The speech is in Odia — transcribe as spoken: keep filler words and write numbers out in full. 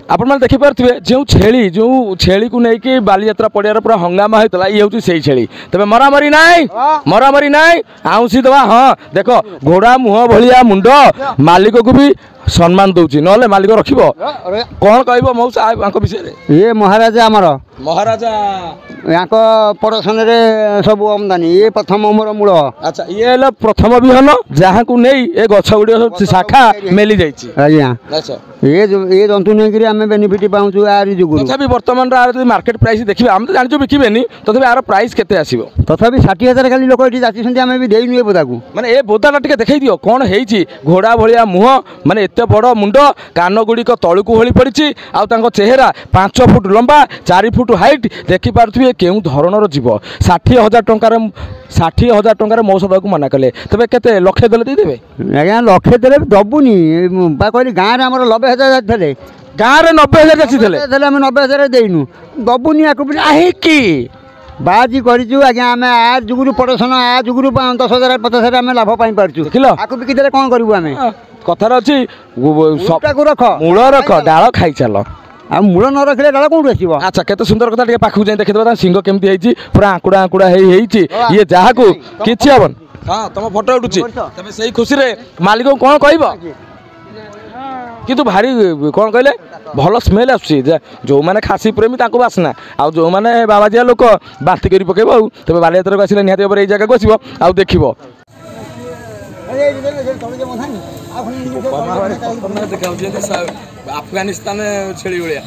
ଆପଣମାନେ ଦେଖିପାରୁଥିବେ ଯେଉଁ ଛେଳି ଯେଉଁ ଛେଳିକୁ ନେଇକି ବାଲିଯାତ୍ରା ପଡ଼ିଆରେ ପୁରା ହଙ୍ଗାମା ହେଇଥିଲା ଇଏ ହେଉଛି ସେଇ ଛେଳି ତେବେ ମରାମରି ନାହିଁ ମରାମରି ନାହିଁ ଆଉଁସି ଦେବା ହଁ ଦେଖ ଘୋଡ଼ା ମୁହଁ ଭଳିଆ ମୁଣ୍ଡ ମାଲିକକୁ ବି ସମ୍ମାନ ଦଉଛି ନହେଲେ ମାଲିକ ରଖିବ କ'ଣ କହିବ ମଉସା ଆଙ୍କ ବିଷୟରେ ଇଏ ମହାରାଜା ଆମର ମହାରାଜା ୟାଙ୍କ ପ୍ରଡକ୍ସନରେ ସବୁ ଆମଦାନୀ ଇଏ ପ୍ରଥମ ମୋର ମୂଳ ଆଚ୍ଛା ଇଏ ହେଲା ପ୍ରଥମ ବିହନ ଯାହାକୁ ନେଇ ଏ ଗଛ ଗୁଡ଼ିକ ସବୁ ଶାଖା ମେଲି ଯାଇଛି ଆଜ୍ଞା ଆଚ୍ଛା ଏ ଏ ଜନ୍ତୁ ନେଇକିରି ଆମେ ବେନିଫିଟ୍ ପାଉଛୁ ଆରି ଯୋଗୁରୁ ତଥାପି ବର୍ତ୍ତମାନର ଆର ଯଦି ମାର୍କେଟ ପ୍ରାଇସ୍ ଦେଖିବେ ଆମେ ତ ଜାଣିଛୁ ବିକିବେନି ତଥାପି ଆର ପ୍ରାଇସ୍ କେତେ ଆସିବ ତଥାପି ଷାଠିଏ ହଜାର ଖାଲି ଲୋକ ଏଠି ଯାଚିଛନ୍ତି ଆମେ ବି ଦେଇନୁ ଏ ବୋଦାକୁ ମାନେ ଏ ବୋଦାଟା ଟିକେ ଦେଖେଇ ଦିଅ କ'ଣ ହେଇଛି ଘୋଡ଼ା ଭଳିଆ ମୁହଁ ମାନେ ଏତେ ବଡ଼ ମୁଣ୍ଡ କାନ ଗୁଡ଼ିକ ତଳକୁ ଓହଳି ପଡ଼ିଛି ଆଉ ତାଙ୍କ ଚେହେରା ପାଞ୍ଚ ଫୁଟ ଲମ୍ବା ଚାରି ଫୁଟ ହାଇଟ୍ ଦେଖିପାରୁଥିବେ କେଉଁ ଧରଣର ଜୀବ ଷାଠିଏ ହଜାର ଟଙ୍କାର ଷାଠିଏ ହଜାର ଟଙ୍କାରେ ମଉସା ଦେବାକୁ ମନା କଲେ ତେବେ କେତେ ଲକ୍ଷେ ଦେଲେ ଦେଇଦେବେ ଆଜ୍ଞା ଲକ୍ଷେ ଦେଲେ ବି ଦବୁନି ମୁଁ ବା କହିଲି ଗାଁରେ ଆମର ନବେ ହଜାର ଯାଚିଥିଲେ ଗାଁରେ ନବେ ହଜାର ଯାଚିଥିଲେ ଦେଲେ ଆମେ ନବେ ହଜାର ଦେଇନୁ ଦବୁନି ଆକୁ ବି କାହିଁକି ବାଜି କରିଛୁ ଆଜ୍ଞା ଆମେ ଆ ଯୁଗୁରୁ ପ୍ରଡକ୍ସନ ଆ ଯୁଗୁରୁ ଦଶ ହଜାର ପଚାଶ ହଜାର ଆମେ ଲାଭ ପାଇପାରୁଛୁ ଦେଖିଲ? ଆକୁ ବିକିଦେଲେ କ'ଣ କରିବୁ ଆମେ କଥାରେ ଅଛି ଗୁ- ସ- ମୂଳଟାକୁ ରଖ ମୂଳ ରଖ ଡାଳ ଖାଇ ଚାଲ ଆଉ ମୂଳ ନ ରଖିଲେ ଡାଳ କୋଉଠୁ ଆସିବ ଆଚ୍ଛା କେତେ ସୁନ୍ଦର କଥା ଟିକେ ପାଖକୁ ଯାଇ ଦେଖିଦେବା ତା ଶିଙ୍ଗ କେମିତି ହେଇଛି ପୁରା ଆଙ୍କୁଡ଼ା ଆଙ୍କୁଡ଼ା ହେଇ ହେଇଛି ଇଏ ଯାହାକୁ କିଛି ହବନି ହଁ ତମ ଫଟୋ ଉଠୁଛି ତମେ ସେଇ ଖୁସିରେ ମାଲିକକୁ କ'ଣ କହିବ କିନ୍ତୁ ଭାରି କ'ଣ କହିଲେ ଭଲ ସ୍ମେଲ୍ ଆସୁଛି ଯେ ଯେଉଁମାନେ ଖାସି ପ୍ରେମୀ ତାଙ୍କୁ ବାସ୍ନା ଆଉ ଯେଉଁମାନେ ବାବାଜିଆ ଲୋକ ବାନ୍ତି କରି ପକେଇବ ଆଉ ତେବେ ବାଲିଯାତ୍ରାକୁ ଆସିଲେ ନିହାତି ଭାବରେ ଏଇ ଜାଗାକୁ ଆସିବ ଆଉ ଦେଖିବ ଆଫଗାନିସ୍ତାନ ଛେଳି ଭଳିଆ